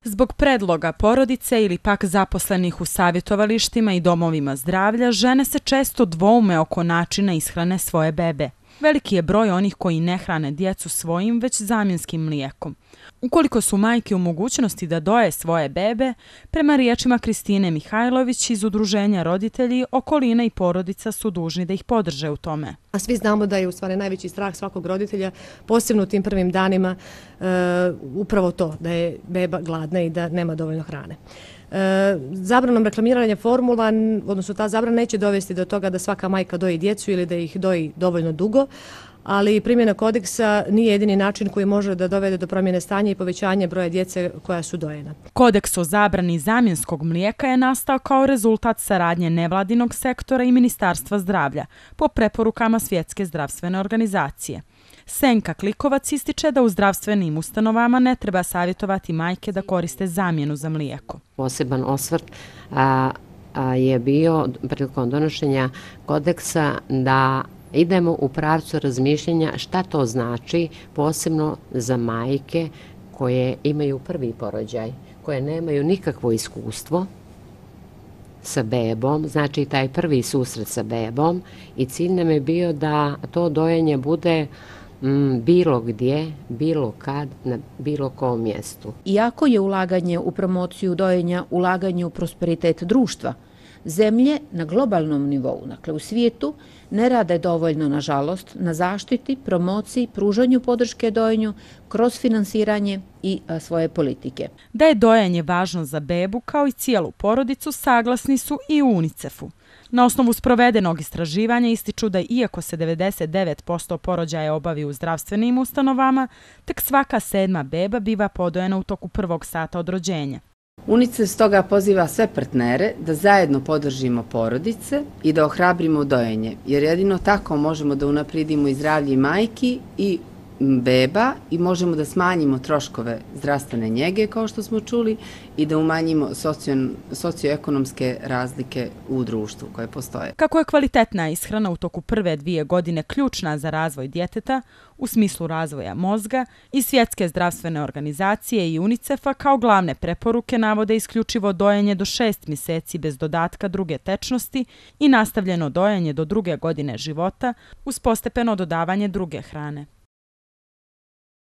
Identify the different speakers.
Speaker 1: Zbog predloga porodice ili pak zaposlenih u savjetovalištima i domovima zdravlja, žene se često dvoume oko načina ishrane svoje bebe. Veliki je broj onih koji ne hrane djecu svojim, već zamjenskim mlijekom. Ukoliko su majke u mogućnosti da doje svoje bebe, prema riječima Kristine Mihajlović iz Udruženja roditelji, okolina i porodica su dužni da ih podrže u tome.
Speaker 2: A svi znamo da je u stvari najveći strah svakog roditelja, posebno u tim prvim danima, upravo to, da je beba gladna i da nema dovoljno hrane. Zabranom reklamiranja formula, odnosno ta zabrana neće dovesti do toga da svaka majka doji djecu ili da ih doji dovoljno dugo, ali primjena kodeksa nije jedini način koji može da dovede do promjene stanja i povećanja broja djece koja su dojena.
Speaker 1: Kodeks o zabrani zamjenskog mlijeka je nastao kao rezultat saradnje nevladinog sektora i Ministarstva zdravlja po preporukama Svjetske zdravstvene organizacije. Senka Klikovac ističe da u zdravstvenim ustanovama ne treba savjetovati majke da koriste zamjenu za mlijeko.
Speaker 3: Poseban osvrt je bio prilikom donošenja kodeksa da idemo u pravcu razmišljanja šta to znači posebno za majke koje imaju prvi porođaj, koje nemaju nikakvo iskustvo sa bebom, znači taj prvi susret sa bebom, i cilj nam je bio da to dojenje bude bilo gdje, bilo kad, na bilo kom mjestu.
Speaker 4: Iako je ulaganje u promociju dojenja ulaganje u prosperitet društva, zemlje na globalnom nivou, dakle u svijetu, ne rade dovoljno, nažalost, na zaštiti, promociji, pružanju podrške dojenju kroz finansiranje i svoje politike.
Speaker 1: Da je dojenje važno za bebu kao i cijelu porodicu saglasni su i u UNICEF-u. Na osnovu sprovedenog istraživanja ističu da iako se 99% porođaja obavi u zdravstvenim ustanovama, tek svaka 7. beba biva podojena u toku prvog sata od rođenja.
Speaker 5: UNICEF stoga poziva sve partnere da zajedno podržimo porodice i da ohrabrimo dojenje, jer jedino tako možemo da unaprijedimo i zdravlje majki i beba i možemo da smanjimo troškove zdravstvene njege, kao što smo čuli, i da umanjimo socioekonomske razlike u društvu koje postoje.
Speaker 1: Kako je kvalitetna ishrana u toku prve 2 godine ključna za razvoj djeteta u smislu razvoja mozga, i Svjetske zdravstvene organizacije i UNICEF-a kao glavne preporuke navode isključivo dojenje do 6 mjeseci bez dodatka druge tečnosti i nastavljeno dojenje do 2. godine života uz postepeno dodavanje druge hrane.